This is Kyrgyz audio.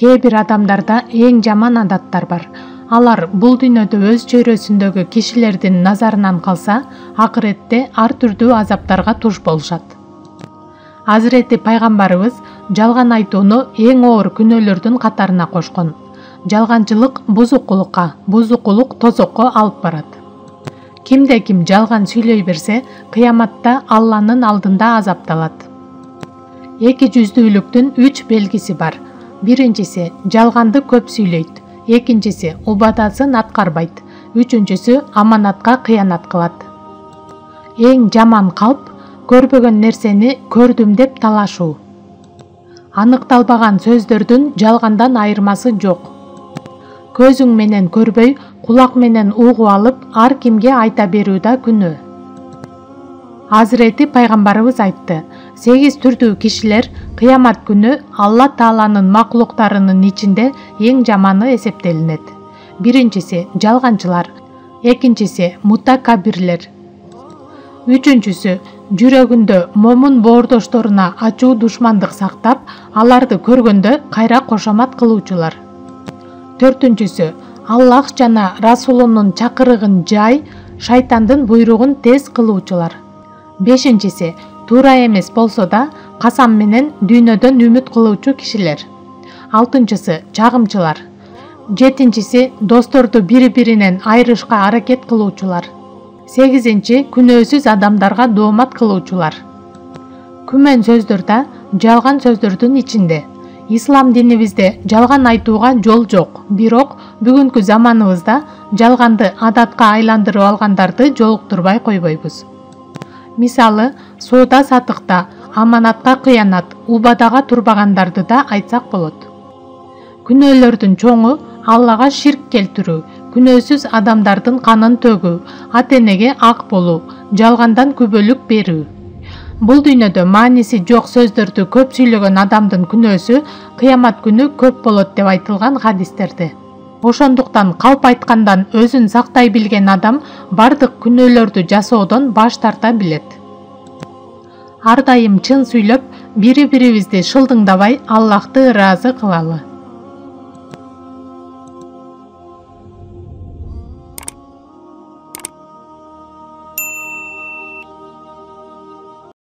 Кээ бир адамдарда эң жаман адаттар бар. Алар бул дүйнөдө өз чөйрөсүндөгү кишилердин назарынан калса, акыретте ар түрдүү азаптарга туш болушат. Азирети пайгамбарыбыз жалган айтууну эң оор күнөөлөрдүн катарына кошкон. Жалганчылык бузукулукка, бузукулук тозокко алып барат. Кимде ким жалган сүйлөй берсе, кыяматта Алланын алдында азапталат. Эки жүздүүлүктүн 3 белгиси бар. Биринчиси жалганды көп сүйлөйт, экинчиси убадасын аткарбайт, үчүнчүсү аманатка кыянат кылат. Эң жаман калп көрбөгөн нерсени көрдүм деп талашуу. Аныкталбаган сөздөрдүн жалгандан айырмасы жок. Көзүң менен көрбөй, кулак менен угуп алып, ар кимге айта берүү да күнөө. Азирети пайгамбарыбыз айтты: 8 түрдүү кишилер кыямат күнү Алла Тааланын макулуктарынын ичинде эң жаманы эсептелинет. Биринчиси жалганчылар, экинчиси мутакабирлер, үчүнчүсү жүрөгүндө момун боордошторуна ачуу душмандык сактап, аларды көргөндө кайра кошомат кылуучулар. Төртүнчүсү Аллах жана Расулунун чакырыгын жай, шайтандын буйругун тез кылуучулар. Бешинчиси туура эмес болсо да касам менен дүйнөдөн үмүт кылуучу кишилер. Алтынчысы чагымчылар. Жетинчиси досторду бири-биринен айырышка аракет кылуучулар. Сегизинчи күнөөсүз адамдарга доомат кылуучулар. Күмөн сөздөр да жалган сөздөрдүн ичинде. Ислам динибизде жалган айтууга жол жок, бирок бүгүнкү заманыбызда жалганды адатка айландырып алгандарды жолуктурбай койбойбуз. Мисалы, соода-сатыкта аманатка кыянат, убадага турбагандарды да айтсак болот. Күнөөлөрдүн чоңу Аллага ширк келтирүү, күнөөсүз адамдардын канын төгүү, ата-энеге ак болуу, жалгандан күбөлүк берүү. Бул дүйнөдө мааниси жок сөздөрдү көп сүйлөгөн адамдын күнөөсү кыямат күнү көп болот деп айтылган хадистерде. Ошондуктан калп айткандан өзүн сактай билген адам бардык күнөөлөрдү жасоодон баш тарта билет. Ар дайым чын сүйлөп, бири-бирибизди шылдыңдабай Аллахты ыраазы кылалы.